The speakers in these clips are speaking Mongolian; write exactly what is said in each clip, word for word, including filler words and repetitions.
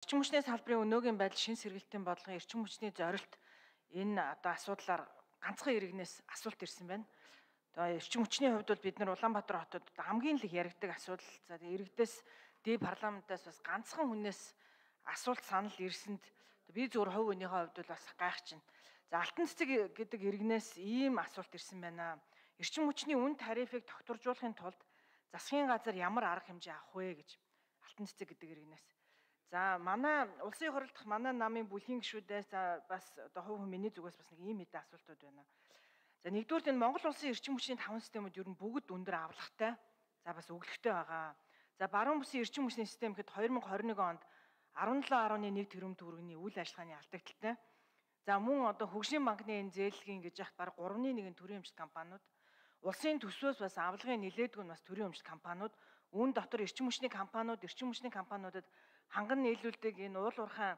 Эрчим хүчний салбарын өнөөгийн байдал шин сэргэлтийн бодлогын эрчим хүчний зорилт энэ одоо асуудлаар ганцхан иргэнээс асуулт ирсэн байна. Одоо эрчим хүчний хувьд бол бид нар Улаанбаатар хотод хамгийн их яригддаг асуудал. За иргэдээс дэв парламентаас бас ганцхан хүнээс асуулт санал ирсэнд би зөвхөн хувь өөнийхөө хувьд бол бас гайхчихна. За Алтан цэцэг гэдэг иргэнээс ийм асуулт ирсэн байна. Эрчим хүчний үн тарифыг тогтворжуулахын тулд засгийн газар ямар арга хэмжээ авах вэ гэж Алтан цэцэг гэдэг иргэнээс. За манай улсын хурлд дахь манай намын бүлгийн гишүүдээс бас одоо хувь хүний зүгээс бас нэг ийм хэдэн асуултууд байна. За нэгдүгээр энэ Монгол улсын эрчим хүчний таван системүүд ер нь бүгд өндөр авлагатай. За бас өглөгтэй байгаа. За баруун бүсийн эрчим хүчний систем гэхэд две тысячи двадцать one онд арван долоо гаруй нэг тэрбум төгрөгийн үйл ажиллагааны алдагдaltaй. За мөн одоо хөгжлийн банкны энэ зээлгийн гэж яхад бараг гуравны нэг төрийн өмчт компаниуд, улсын төсвөөс бас авлагын нэлээдгүй нь бас төрийн өмчт компаниуд, үүн дотор эрчим хүчний компаниуд, эрчим хүчний компаниудад ханган нийлүүлдэг энэ уул уурхай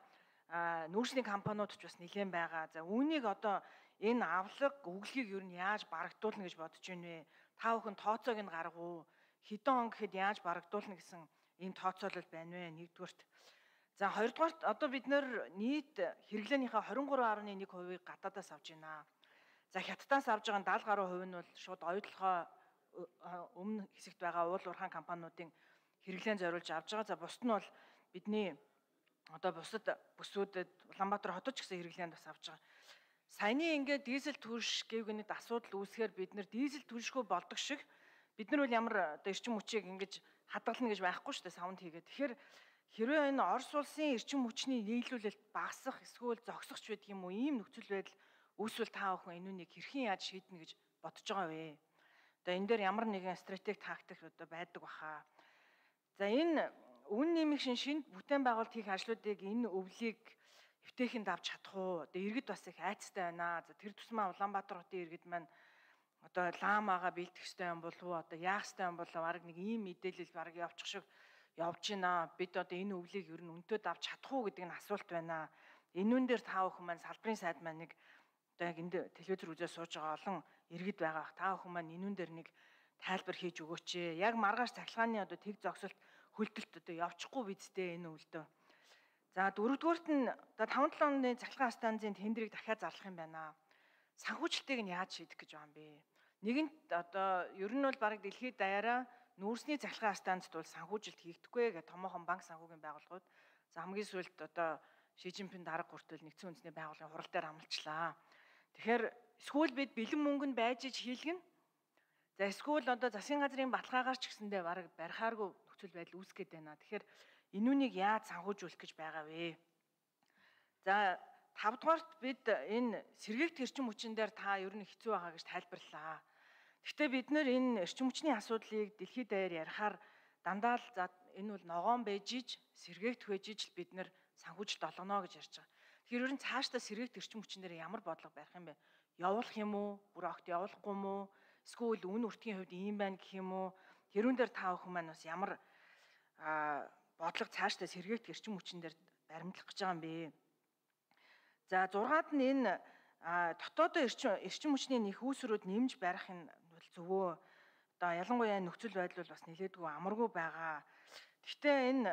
нүүрсний компаниуд ч бас нэлээд байгаа. За үүнийг одоо энэ авлага өглөгийг юу нь яаж барагдуулна гэж бодож байна вэ? Та бүхэн тооцоог нь гаргав. Хэдэн он гэхэд яаж барагдуулна гэсэн ийм тооцоолол байна вэ? Нэгдүгürt. За хоёрдугаарт одоо бид нэр нийт хэрэглээнийхээ двадцать три гаруй нэг хувийг гадаадаас авч байна. За хятадаас авж байгаа даал гаруй хувь нь бол шууд оюутлогоо өмнө хэсэгт байгаа уул уурхай компаниудын хэрэглээн зориулж авж байгаа. За бусд нь бол бидний одоо бусад бүсүүдэд Улаанбаатар хотод ч гэсэн хэрэглээнд бас авч байгаа. Саяны ингээд дизель түлш гэвгүй нэг асуудал үүсгээр бид нэр дизель түлшгүй болдог шиг бид нар бол ямар одоо эрчим хүчийг ингэж хадгална гэж байхгүй шүү дээ савнд хийгээд. Тэгэхээр хэрвээ энэ Орос улсын эрчим хүчний нийлүүлэлт багасах эсвэл зогсохч байдаг юм уу ийм нөхцөл байдал үүсвэл та бүхэн энүүнийг хэрхэн яаж шийднэ гэж бодож байгаа вэ? Одоо энэ дээр ямар нэгэн стратеги тактик одоо байдаг баха. За энэ үн нэмэгшин шинэ бүтээн байгуулалт хийх ажлуудыг энэ өвлийг эвтэйхэнд авч чадах уу? Одоо иргэд бас их айцтай байна. За тэр тусмаа Улаанбаатар хотын иргэд маань одоо ламаага бэлдэх ёстой юм болов уу? Одоо яах ёстой юм болов? Бараг нэг ийм мэдээлэл бараг явчих шиг явж байна. Бид одоо энэ өвлийг ер нь өнтөд авч чадах уу гэдэг нь асуулт байна. Энүүн дээр та бүхэн маань салбарын сайд маань нэг одоо яг энд телевизээр үзээ сууж байгаа олон иргэд байгаа. Та бүхэн маань энүүн дээр нэг тайлбар хийж өгөөч ээ. Яг маргааш цахилгааны одоо тэг зогсолт хөлтөлт одоо явчихгүй бидтэй энэ өвлдөө. За дөрөвдүгüүрт нь одоо таван долоо оны цахилгаан станцын тендерийг дахиад зарлах юм байна. Санхүүжилтийг нь яаж шийдэх гэж байгаа юм бэ? Нэгэнт одоо ер нь бол бараг дэлхийд даяараа нүүрсний цахилгаан станцд бол санхүүжилт хийгдэхгүй гэх томоохон банк санхүүгийн байгууллагууд. За хамгийн сүүлд одоо Ши Жинпин дарга хүртэл нэгдсэн үндэсний байгууллагын хурал дээр амлчлаа. Тэгэхээр эсвэл бид бэлэн мөнгөнд байж иж хийлгэнэ. За эсвэл одоо засгийн газрын баталгаагаар ч гэсэндээ бараг барихааргүй нөхцөл байдал үүсгэж байна. Тэгэхээр энүүнийг яаж санхүүжүүлэх гэж байгаа вэ? За тавдугаарт бид энэ сэргээгт эрчим хүчин дээр та ер нь хэцүү байгаа гэж тайлбарлалаа. Гэхдээ бид нэр энэ эрчим хүчний асуудлыг дэлхийд даяар ярихаар дандаа л за энэ бол ногоон байж иж сэргээгт байж иж л бид нэр санхүүжилт олгоно гэж ярьж байгаа. Тэгэхээр ер нь цаашдаа сэргээгт эрчим хүчин дээр ямар бодлого барих юм бэ? Явуулах юм уу? Бүр огт явуулахгүй юм уу? Эсвэл үн үртгийн хувьд ийм байна гэх юм уу? Тэрүүн дээр та бүхэн маань бас ямар бодлого цаашдаа сэргээгт эрчим хүчин дээр баримтлах гэж байгаа юм бэ? За зургаад нь энэ дотоодын эрчим эрчим хүчний нэх үүсрүүд нэмж барих нь бол зөвөө. Одоо ялангуяа нөхцөл байдал бол бас нэлээдгүй амаргүй байгаа. Гэхдээ энэ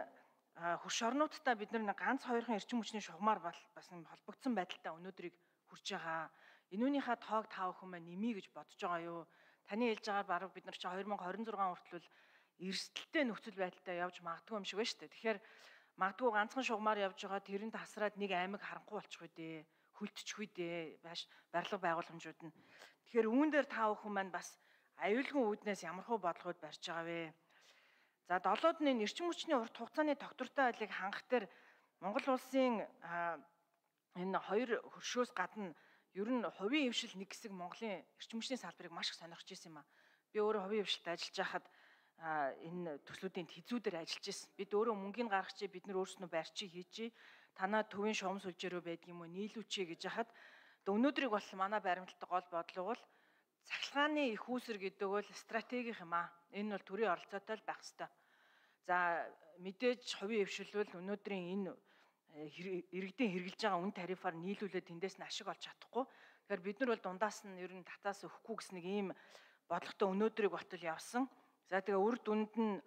хөрш орнуудтай бид нар ганц хоёрхан эрчим хүчний шугамар бас холбогдсон байдалтай өнөөдрийг хүрч байгаа. Энүүнийхээ тоог та бүхэн маань нэмье гэж бодож байгаа юу? Таны хэлж байгаагаар бараг бид нар чи две тысячи двадцать six хүртэл эрсдэлтэй нөхцөл байдалтай явж магадгүй юм шиг байна шүү дээ. Тэгэхээр магадгүй ганцхан шугамар явж байгаа тэрэнд тасраад нэг аймаг харанхуй болчих үү дээ. Хүлтчих үү дээ. Бааш барилга байгууламжууд нь. Тэгэхээр үүн дээр та бүхэн маань бас аюулгүй үүднээс ямархуу бодлогод барьж байгаа вэ? За долоод нь энэ эрчим хүчний урт хугацааны тогтвортой байдлыг хангах дээр Монгол улсын энэ хоёр хөршөөс гадна ер нь хувийн хвшил нэг хэсэг Монголын эрчим хүчний салбарыг маш их сонирхож ирсэн юм а. Би өөрөө хувийн хвшилт ажиллаж байхад энэ төслүүдийн тэзүүдээр ажиллаж ирсэн. Бид өөрөө мөнгөний гаргачи бид нар өөрснөө барьчи хийчи танаа төвийн шугам сүлжээрөө байдаг юм уу нийлүүчи гэж яхад өнөөдрийг бол манай баримталтай гол бодлого бол цахилгааны их үүсэр гэдэг бол стратеги юм а. Энэ бол төрийн оролцоотой л байх ёстой. За мэдээж хувийн хвшил бол өнөөдрийн энэ иргэдийн хэрэгжилж байгаа үн тарифаар нийлүүлээд тэндээс нь ашиг олж чадахгүй. Тэгэхээр бид нар бол дундаас нь ер нь татаас өгөхгүй гэсэн нэг ийм бодлоготой өнөөдрийг болтол явсан. За тэгээ үр дүнд нь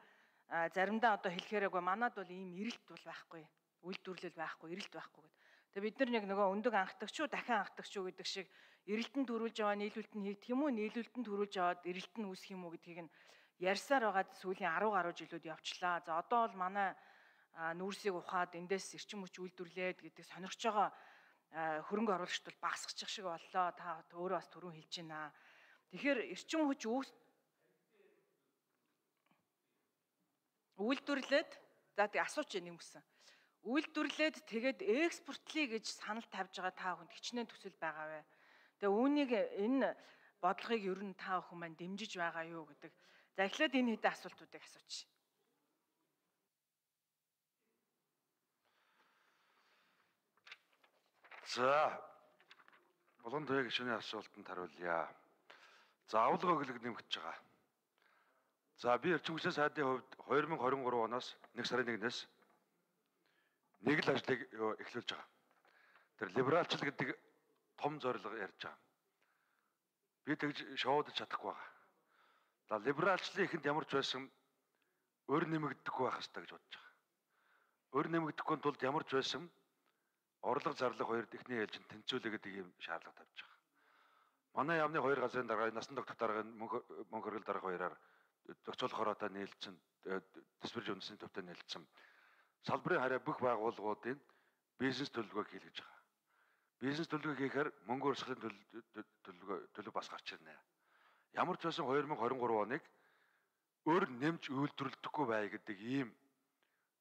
заримдаа одоо хэлэхээрээ манад бол ийм эрэлт бол байхгүй. Үйлдвэрлэл байхгүй, эрэлт байхгүй гэдэг. Тэгээ бид нар яг нөгөө өндөг анхдагч уу, дахин анхдагч уу гэдэг шиг эрэлтэн төрүүлж яваа нийлүүлэлт нь хийгдэх юм уу, нийлүүлэлтэн төрүүлж яваад эрэлт нь үүсэх юм уу гэдгийг нь ярьсаар байгаад сүүлийн арван гаруй жилүүд явчлаа. За одоо бол манай нүүрсийг ухаад эндээс эрчим хүч үйлдвэрлээд гэдэг сонирхож байгаа хөрөнгө оруулагчд бол багасгачих шиг боллоо. Та өөрөө бас түрүүн хэлж байна. Тэгэхээр эрчим хүч үйлдвэрлээд за тэг асууч юм гэсэн. Үйлдвэрлээд тэгээд экспортлие гэж санал тавьж байгаа та бүхэнд хичнээн төсөл байгаа вэ? Тэгээ үүнийг энэ бодлогыг ер нь та бүхэн маань дэмжиж байгаа юу гэдэг. За эхлээд энэ хэдэн асуултуудыг асууч. За Булган туяа гишүүний асуултанд хариулъя. За авлага өглөг нэмэгдэж байгаа. За би эрчим хүчний сайдын хувьд две тысяча двадцать три оноос нэг сарын нэгнээс нэг л ажлыг эхлүүлж байгаа. Тэр либералчл гэдэг том зорилго ярьж байгаа. Би тэгж шоудж чадахгүй байгаа. За либералчлын ихэнд ямар ч байсан өр нэмэгдэхгүй байх хэрэгтэй гэж бодож байгаа. Өр нэмэгдэхгүй тулд ямар ч байсан орлого зарлах хоёрд ихний ээлжинд тэнцвүүлээ гэдэг ийм шаардлага тавьж байгаа. Манай яамны хоёр газрын дарга насан тогтох дарга мөнгө хөргөл дарга хоёроор зохицуулах хороотой нийлцэн төсвөрж үндэсний төвтэй нийлцэн салбарын хараа бүх байгууллагуудын бизнес төлөвлөгөөг хийлгэж байгаа. Бизнес төлөвлөгөө хийхээр мөнгө өрсөлийн төлөвлөгөө төлөв бас гарч ирнэ. Ямар ч байсан две тысяча двадцать три оныг өр нэмж үйлдвэрлэхгүй бай гэдэг ийм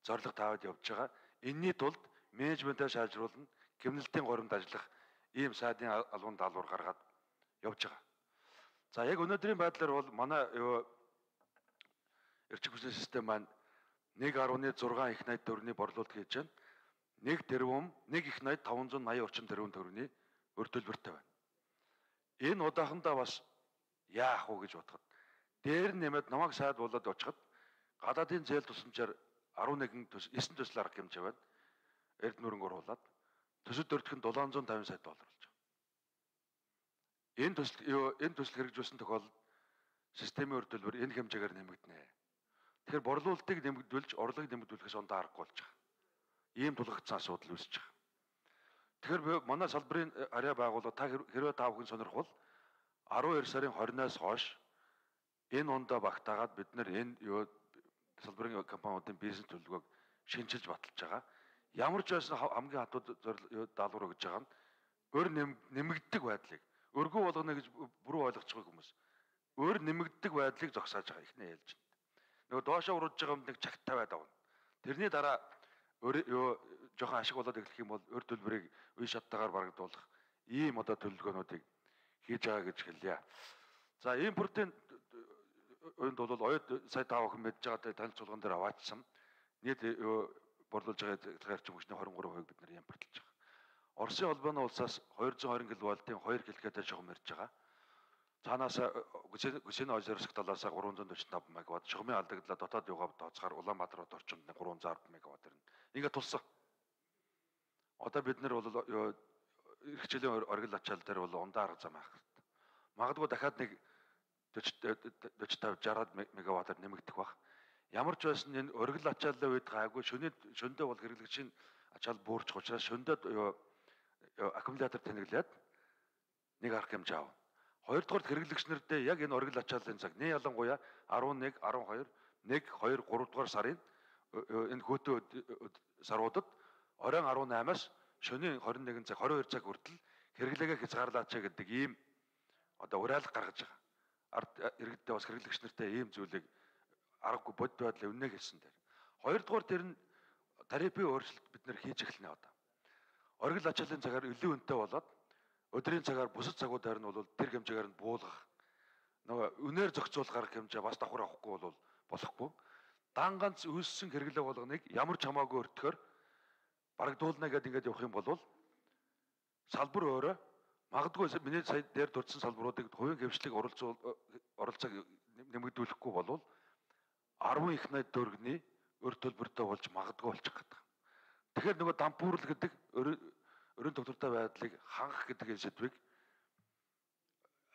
зорилго тавиад явж байгаа. Энийний тулд менежментээ сайжруулна, гэмнэлтийн горимд ажиллах ийм сайдын албан даалгавар гаргаад явж байгаа. За яг өнөөдрийн байдлаар бол манай эрчим хүчний систем маань нэг гаруй зургаан их найд төгрөгийн борлуулалт хийж байна. нэг тэрбум, нэг их найд таван зуун наяа орчим тэрбум төгрөгийн өр төлбөртэй байна. Энэ удаахандаа бас яах вэ гэж бодоход дээр нэмээд намайг сайд болоод очиход гадаадын зээл тусламжаар eleven төс nine төсөл арга хэмжээ байна. Эрдэнэ хөрөнгө оруулаад төсөв дөрөвдөх нь seven hundred fifty сая доллар болж байгаа. Энэ төсөл энэ төсөл хэрэгжүүлсэн тохиолдолд системийн өр төлбөр энэ хэмжээгээр нэмэгдэнэ. Тэгэхээр борлуулалтыг нэмэгдүүлж орлогыг нэмэгдүүлэхээс ондоо аргагүй болж байгаа. Ийм тулгагдсан асуудал үүсэж байгаа. Тэгэхээр манай салбарын арай байгууллага та хэрвээ та бүхэн сонирхвол twelve сарын twenty-наас хойш энэ ондоо багтаагаад бид нэр энэ юу салбарын компаниудын бизнес төлөвлөгөөг шинжилж баталж байгаа. Ямар ч байсан хамгийн хатуу даалгавар өгж байгаа нь өр нэмэгддэг байдлыг өргөө болгоно гэж бүрэн ойлгож байгаа хүмүүс. Өр нэмэгддэг байдлыг зогсоож байгаа ихний ээлжинд. Нөгөө доошоо урууж байгаа юм нэг чагт тавиад авна. Тэрний дараа өр юу жоохон ашиг болоод эхлэх юм бол өр төлбөрийг үе шаттайгаар барагдуулах ийм одоо төлөвлөгөөнүүдийг хийж байгаа гэж хэлье. За импортын өнд бол оюут сая тав охин мэдж байгаа танилцуулган дээр аваачсан. Нийт борлуулж байгаа эрчим хүчний twenty-three percent бид нэр импортлж байгаа. Оросын холбооны улсаас two hundred twenty киловаттын two гэлгээтэй шугам ирж байгаа. Цаанаас Гүсэний озерск талаас three hundred forty-five мегаватт, шугамын алдагдлаа дотоод юугаар тооцохоор Улаанбаатар хот орчинд three hundred forty мегаватт ирнэ. Ингээд тулсан. Одоо бид нар бол эрх хичээлийн оргил ачаал дээр бол ундаа арга зам авах хэрэгтэй. Магадгүй дахиад нэг forty-five sixty мегаваттаар нэмэгдэх бах. Ямар ч байсан энэ оргил ачааллаа үед гайгүй шөнөд шөндөө бол хэрэглэгчийн ачаал буурч учраас шөндөд аккумулятор тэнэглээд нэг арга хэмжээ аав. Хоёрдугаар хэрэглэгч нартай яг энэ оргил ачааллын цаг нэг ялангуяа eleven, twelve, one, two, three дугаар сарын энэ хөтөө саруудад оройн eighteen-аас шөнийн twenty-one цаг twenty-two цаг хүртэл хэрэглээгээ хязгаарлаач гэдэг ийм одоо уриалга гаргаж байгаа. Ард иргэдтэй бас хэрэглэгч нартай ийм зүйлийг аргагүй бод байдлаа үнэ хэлсэн дээр. Хоёрдугаар тэр нь тарифын өөрчлөлт бид нэр хийж эхэлнэ одоо. Оргил ачааллын цагаар илүү үнэтэй болоод өдрийн цагаар бусад цагуудаар нь бол тэр хэмжээгээр нь буулгах нөгөө үнээр зохицуулах арга хэмжээ бас давхар авахгүй бол болохгүй. Дан ганц үүссэн хэрэглээ болгоныг ямар ч хамаагүй өртөхөөр барагдуулна гэдэг ингээд явах юм бол салбар өөрөө магадгүй миний сая дээр дурдсан салбаруудыг хувийн хвшлийг оролцуул оролцоог нэмэгдүүлэхгүй бол ten их найд төгрөгийн өр төлбөртэй болж магадгүй болчих гэдэг. Тэгэхээр нөгөө дампуурл гэдэг өрийн тогтвортой байдлыг хангах гэдэг сэдвийг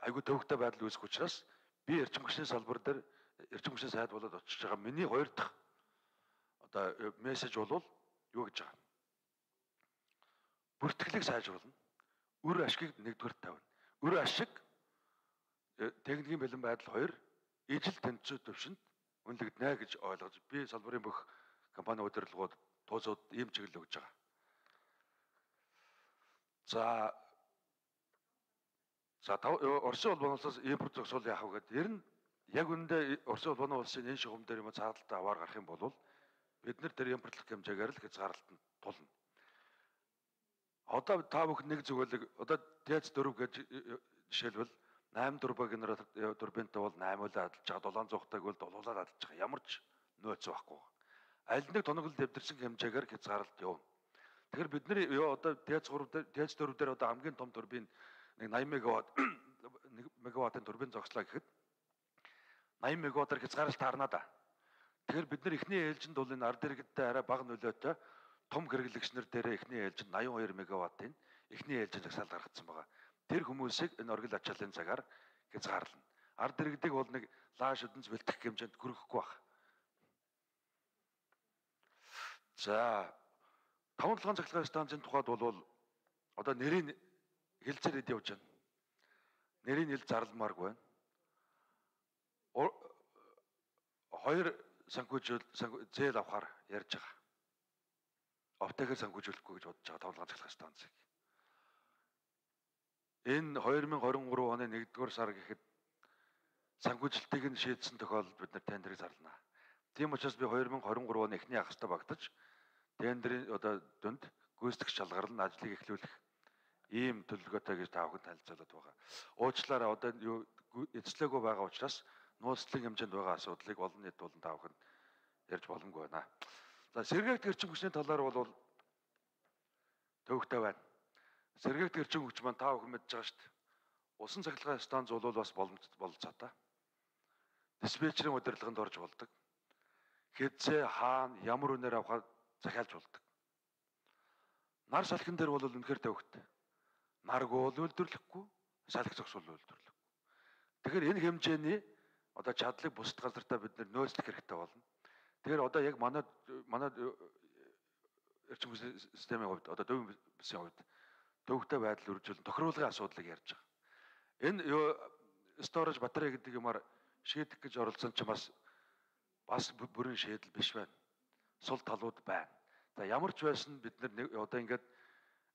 айгүй төвөгтэй байдал үүсэх учраас би эрчим хүчний салбар дээр эрчим хүчний сайд болоод очиж байгаа миний хоёр дахь одоо мессеж бол юу гэж байгаа. бүртгэлийг сайжруулна. Үр ашгийг нэгдүгээр тавина. Үр ашиг техникийн бэлэн байдал хоёр ижил тэнцвэр төвшөнд үнэлэгдэнэ гэж ойлгож би салбарын бүх компани удирдлагууд туусууд ийм чиглэл өгж байгаа. За За Оросын улбан улсаас импорт зогсоол яах вэ гэдэг. Ер нь яг үүндээ Оросын улбан улсын энэ шугам дээр юм цаадалтай аваар гарах юм бол бид нар тэр импортлох хэмжээгээр л хязгаарлалтанд тулна. Одоо та бүхэн нэг зүгэлэг одоо ТЭЦ дөрөв гэж жишээлбэл найман турбо генератор турбинтай бол найман л адилж байгаа, долоон цухтайг бол долуулаад адилж байгаа. Ямар ч нөөц байхгүй. Аль нэг тоноглол дэвдэрсэн хэмжээгээр хязгаарлалт явна. Тэгэхээр бид нар одоо ТЭЦ гурав дээр ТЭЦ дөрөв дээр одоо хамгийн том турбин нэг найман мегаватт нэг мегаваттын турбин зогслоо гэхэд найман мегаваттаар хязгаарлалт харна да. Тэгэхээр бид нар эхний ээлжинд бол энэ ард иргэдтэй арай бага нөлөөтэй том хэрэглэгчнэр дээр эхний ээлжинд восемьдесят two мегаваттын эхний ээлжинд жагсаал гаргацсан байгаа. Тэр хүмүүсийг энэ оргил ачааллын цагаар хязгаарлана. Ард иргэдийг бол нэг лааш өдөнц бэлтгэх хэмжээнд хүрэхгүй байна. За таван толгойн цахилгаан станцын тухайд бол одоо нэрийн хэлцээр ид явж байна. Нэрийн хэл зарламааргүй байна. Хоёр санхүүжүүл зээл авахар ярьж байгаа. Оптекээр санхүүжүүлэхгүй гэж бодож байгаа таван толгойн цахилгаан станцыг. Энэ two thousand twenty-three оны нэгдүгээр сар гэхэд санхүүжилтийг нь шийдсэн тохиолдолд бид нар тендерийг зарлана. Тийм учраас би two thousand twenty-three оны эхний хагастай багтаж тендерийн одоо дүнд гүйцэтгэх шалгарлан ажлыг эхлүүлэх ийм төлөвлөгөөтэй гэж та бүхэн танилцуулаад байгаа. Уучлаарай одоо эцлээгүй байгаа учраас нууцлалын хэмжээнд байгаа асуудлыг олон нийт болон та бүхэн ярьж боломгүй байна. За сэргээгт эрчим хүчний талаар бол төвөгтэй байна. Сэргээгт эрчим хүч маань та бүхэн мэдж байгаа шүү дээ. Усан цахилгаан станц бол бас бололцоотой. Диспетчерийн удирдлаганд орж болдог. Хэзээ хаана ямар үнээр авахад захиалж болдог. Нар салхин дээр бол үнэхээр төвөгтэй. Нарг бол үйлдвэрлэхгүй, салхи зогсвол үйлдвэрлэхгүй. Тэгэхээр энэ хэмжээний одоо чадлыг бусад газартаа бид нөөцлөх хэрэгтэй болно. Тэгэхээр одоо яг манай манай эрчим хүчний системийн хувьд одоо дövийн бүсийн хувьд төвөгтэй байдал үржүүлэн тохируулгын асуудлыг ярьж байгаа. Энэ юу storage батарей гэдэг юмар шийдэх гэж оролцсон ч бас бас бүрэн шийдэл биш байна. Сул талууд байна. За ямар ч байсан бид нар одоо ингээд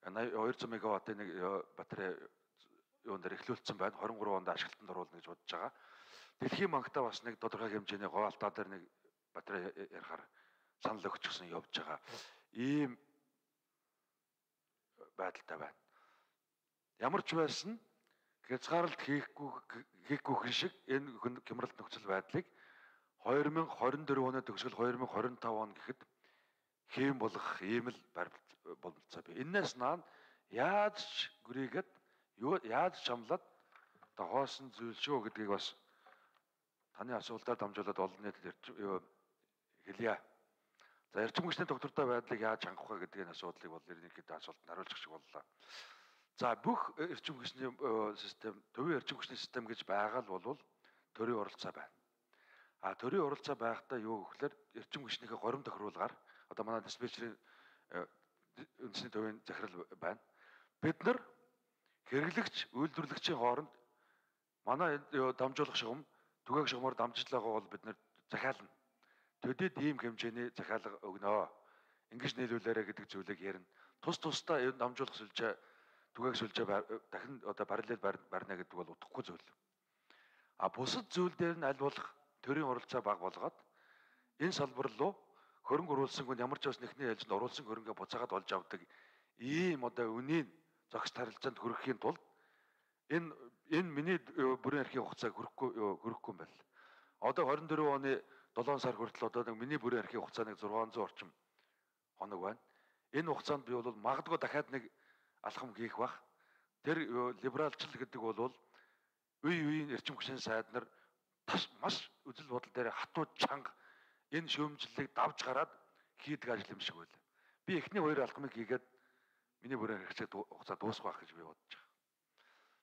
two hundred мегаваттын нэг батарей юунд дээр эхлүүлсэн байна. twenty-three онд ашиглалтанд оруулна гэж бодож байгаа. Дэлхийн банктай бас нэг тодорхой хэмжээний говьалтаа дээр нэг батарей ярихаар санал өгчихсөн явж байгаа. Ийм байдалтай байна. Ямар ч байсан хязгаарлалт хийхгүй хийхгүй шиг энэ хямралт нөхцөл байдлыг two thousand twenty-four оны төгсгөл two thousand twenty-five он гэхэд хэм болох ийм л бололцоо бий. Энээс наан яаж ч гүрийгээд яаж чамлаад одоо хоосон зүйл шүү гэдгийг бас таны асуултаар дамжуулаад олон нийтэд хэлье. За эрчим хүчний доктортой байдлыг яаж хангах вэ гэдгийн асуудлыг бол ерөнхийдөө асуултанд хариулчих шиг боллоо. За бүх эрчим хүчний систем, төвийн эрчим хүчний систем гэж байгаа л бол төрийн оролцоо байна. А төрийн оролцоо байхдаа юу гэхээр эрчим хүчнийхээ горим тохируулгаар одоо манай диспетчерийн үндэсний төвийн захирал байна. Бид нар хэрэглэгч, үйлдвэрлэгчийн хооронд манай дамжуулах шугам, түгээх шугамаар дамжиж байгаа бол бид нар захиална. Төдийд ийм хэмжээний захиалга өгнө. Ингэж нийлүүлээрэ гэдэг зүйлийг ярина. Тус тусдаа энэ дамжуулах сүлжээ, түгээх сүлжээ дахин одоо параллел барьна гэдэг бол утгагүй зүйл. А бусад зүйл дээр нь аль болох төрийн оролцоо бага болгоод энэ салбар руу хөрөнгө оруулсан хүн ямар ч бас нэхний ээлжинд оруулсан хөрөнгө буцаагаад олж авдаг ийм одоо үнийн зохис харилцаанд хүрэхийн тулд энэ энэ миний бүрэн эрхийн хугацааг хүрэхгүй хүрэхгүй юм байна. Одоо twenty-four оны seven сар хүртэл одоо нэг миний бүрэн эрхийн хугацаа нэг six hundred орчим хоног байна. Энэ хугацаанд би бол магадгүй дахиад нэг алхам хийх бах. Тэр либералчл гэдэг бол үе үеийн эрчим хүчний сайд нар маш үзэл бодол дээр хатуу чанга энэ шүүмжлэлийг давж гараад хийдэг ажил юм шиг байл. Би эхний хоёр алхмыг хийгээд миний бүрэн хэрэгцээ хугацаа дуусах байх гэж би бодож байгаа.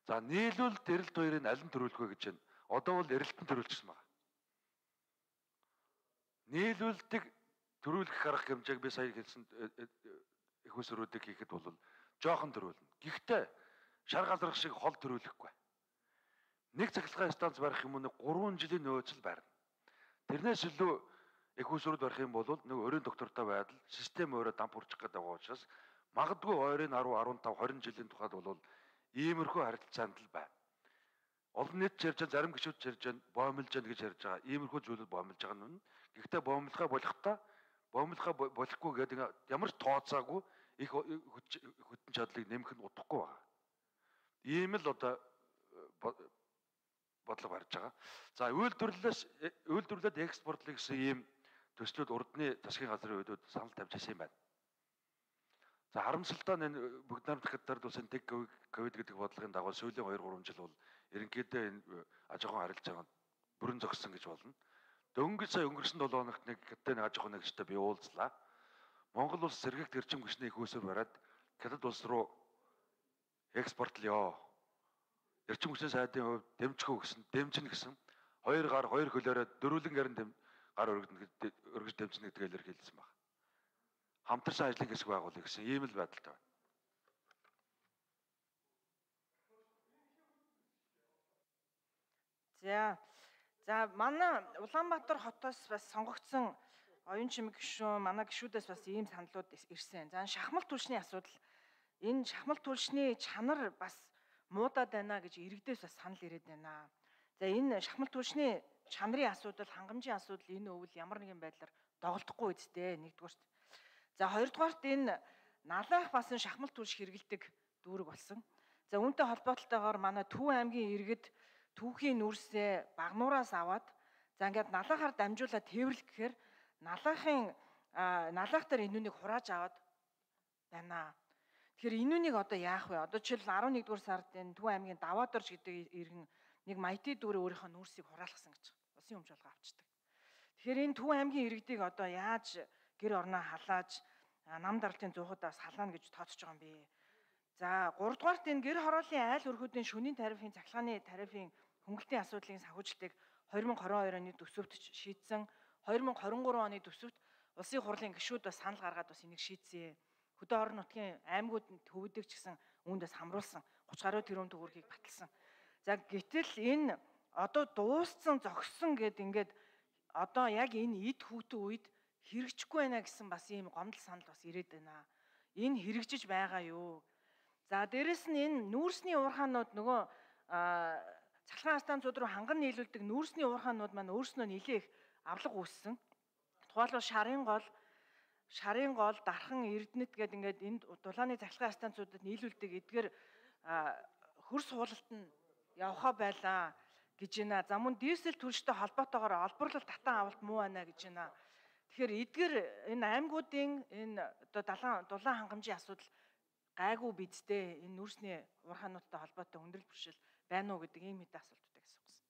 За нийлүүлэлт эрэлт хоёрыг аль нь төрүүлэх вэ гэж байна. Одоо бол эрэлтэн төрүүлчихсэн байна. Нийлүүлэлтийг төрүүлэх арга хэмжээг би сая хэлсэн их усруудыг хийхэд бол жоохон төрүүлнэ. Гэхдээ шар галрах шиг хол төрүүлэхгүй. Нэг цахилгаан станц барих юм уу нэг гурван жилийн нөөцөл барина. Тэрнээс илүү их усрууд барих юм бол нэг өрийн доктортой байдал систем өөрөө дамп хүрчих гэдэг учраас магадгүй ойрын десять,15, twenty жилийн тухайд бол иймэрхүү харилцаанд л байна. Олон нийт ярьж байгаа зарим гишүүд ярьж байгаа боомлж байгаа гэж ярьж байгаа. Иймэрхүү зүйлүүд боомлж байгаа нь. Гэхдээ боомлохоо болохтой боомлохоо болохгүй гэдэг ямар ч тооцоогүй их хөтөн чадлыг нэмэх нь удахгүй байна. Ийм л одоо бодлого барьж байгаа. За үйлдвэрлэлээс үйлдвэрлэлд экспортлох гэсэн ийм төслүүд урдны засгийн газрын үеүүд санал тавьж ирсэн юм байна. За харамсалтай нь бүгд найрамд хаттард улсын тэг ковид гэдэг бодлогын дагуу сүүлийн two three жил бол ерөнхийдөө энэ аж ахуйн харилцаанд бүрэн зогссон гэж болно. Дөнгөж сая өнгөрсөн seven хоногт нэг хятадын аж ахуйн нэгжтэй би уулзлаа. Монгол улс сэргийгт эрчим хүчний их усөр бариад хятад улс руу экспортлё. Эрчим хүчний сайдын хувьд дэмжих гэсэн, дэмжинэ гэсэн хоёр гар хоёр хөлөөрөө дөрвөлэн гарын дэм гар өргөдөн өргөж дэмжинэ гэдгээр илэрхийлсэн байна. Хамтарсан ажлын хэсэг байгуулъя гэсэн ийм л байдалтай байна. За. За манай Улаанбаатар хотоос бас сонгогдсон оюун чимэг гишүүн манай гишүүдээс бас ийм саналууд ирсэн. За шахмал түлшний асуудал. Энэ шахмал түлшний чанар бас муудаад байна гэж иргэдээс бас санал ирээд байна. За энэ шахмал түлшний чанарын асуудал, хангамжийн асуудал энэ өвөл ямар нэгэн байдлаар доголдохгүй үсттэй нэгдүгээрт. За хоёрдугаарт энэ налаах бас энэ шахмал түлш хэрэгэлдэг дүүрэг болсон. За үүнтэй холбоотойгоор манай Төв аймгийн иргэд түүхийн нүрсээ багнуураас аваад за ингээд налаахаар дамжуулаад тээвэрлэх гэхээр налаахын налаах дээр энүүнийг хурааж аваад байна. Тэгэхээр энүүнийг одоо яах вэ? Одоо жишээл eleven дугаар сард энэ Төв аймгийн Даваадорж гэдэг иргэн нэг Маятий дүүрээ өөрийнхөө нүрсийг хураалгасан гэж усын өмч олгоо авчдаг. Тэгэхээр энэ Төв аймгийн иргэдийг одоо яаж гэр орноо халааж нам даралтын зуухудаас халаана гэж тооцож байгаа юм бэ? За гуравдугаарт энэ гэр хорооллын айл өргөдийн шөнийн тарифын цахилгааны тарифын хөнгөлтийн асуудлын санхүүжилтийг twenty twenty-two оны төсөвт шийдсэн. twenty twenty-three оны төсөвт улсын хурлын гишүүд бас санал гаргаад бас энийг шийдсэн. Хөдөө орон нутгийн аймагуудад төвөдөг ч гэсэн үүндээс хамруулсан thirty гаруй тэрбум төгрөгийг баталсан. За гэтэл энэ одоо дууссан зогссон гэд ингээд одоо яг энэ эд хүүтэн үед хэрэгжихгүй байна гэсэн бас ийм гомдол санал бас ирээд байна. Энэ хэрэгжиж байгаа юу? За дээрэс нь энэ нүүрсний уурхаанууд нөгөө цахилгаан станцууд руу ханган нийлүүлдэг нүүрсний уурхаанууд маань өөрснөө нэлээх авлага үүссэн. Тухайлбал шарын гол, шарын гол, дархан, эрдэнэт гэдэг ингээд энд дулааны цахилгаан станцуудад нийлүүлдэг эдгээр хөрс хуулалт нь явхаа байлаа гэж байна. За мөн дизель түлштэй холбоотойгоор олборлол татан авалт муу байна гэж байна. Тэгэхээр эдгээр энэ аймагуудын энэ одоо далайн дулаан хангамжийн асуудал гайгүй бидтэй энэ нүүрсний уурхаануудтай холбоотой өндөрлөл бэрхшээл байна уу гэдэг ийм хэдэн асуултуудыг асуусан.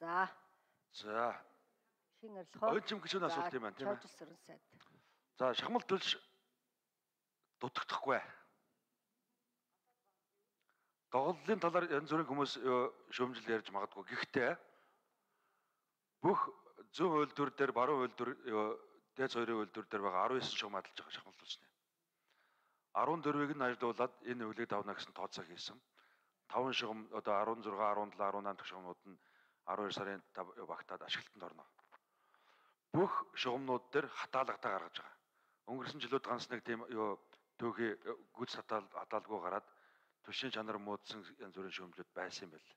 За. За. Хин арилгоо. Оюун чим гишүүн асуулт юм байна тийм ээ. Чойжсөрөн сайд. За шахмал түлш дутагдахгүй. Доголлын талаар янз бүрийн хүмүүс шүүмжил ярьж магадгүй. Гэхдээ бүх зүүн үйлдвэр дээр, баруун үйлдвэр, дээд соёрын үйлдвэр дээр байгаа nineteen шугам адилж байгаа шахмал түлшний. fourteen-ыг нь ажилуулад энэ өвлийг давна гэсэн тооцоо хийсэн. five шугам одоо sixteen, seventeen, eighteen дахь шугамнууд нь twelve сарын багтаад ашиглалтанд орно. Бүх шугамнууд дээр хатаалгатай гаргаж байгаа. Өнгөрсөн жилүүд ганц нэг тийм юу төвхий гүйц хатаал хатаалгүй гараад түвшин чанар муудсан янз бүрийн шүүмжлүүд байсан юм байна.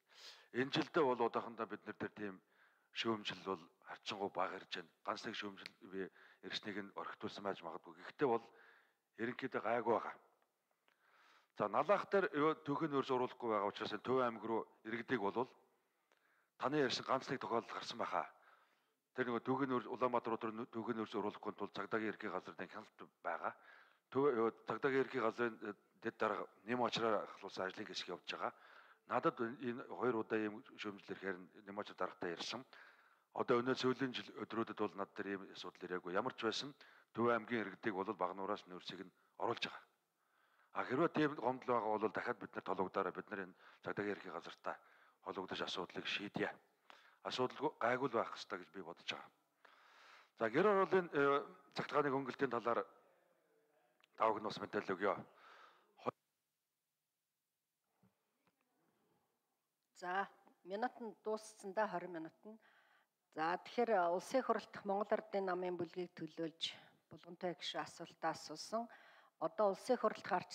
Энэ жилдээ бол удаахандаа бид нар дээр тийм шүүмжил бол харьцангуй бага ирж байна. Ганц нэг шүүмжил би ирснийг нь орхитуулсан байж магадгүй. Гэхдээ бол ерөнхийдөө гайгүй байгаа. За налаах дээр түүхийн нөөц уруулахгүй байгаа учраас Төв аймаг руу иргэдэг бол таны ярьсан ганц нэг тохиолдол гарсан байхаа. Тэр нөгөө түүхийн нөөц Улаанбаатар руу түүхийн нөөц уруулахгүй тул цагдаагийн ерхий газрын хяналт байгаа. Төв цагдаагийн ерхий газрын дэд дарга нэм очроор ахлуулсан ажлын хэсэг явж байгаа. Надад энэ хоёр удаа ийм шүүмжил ирэхээр нэм очроо даргатай ярьсан. Одоо өнөө сүүлийн жил өдрүүдэд бол над дээр ийм асуудал ирээгүй. Ямар ч байсан Төв аймгийн иргэдэг бол багнуураас нөөцийг нь оруулж байгаа. А хэрвээ тийм гомдол байгаа бол дахиад бид нар тологдороо бид нар энэ цагдаагийн ерхий газартаа хологдож асуудлыг шийдье. Асуудал гайгүй байх хэрэгтэй гэж би бодож байгаа. За гэр ороолын цагдгааны хөнгөлтийн талаар Давг нь бас мэдээлэл өгье. За, минут нь дууссан да twenty минут нь. За, тэгэхээр улсын хурлд Монгол Ардын намын бүлгийг төлөөлж булгантай гишүүн асуултаа асуусан. Одоо улсын хурлд гарч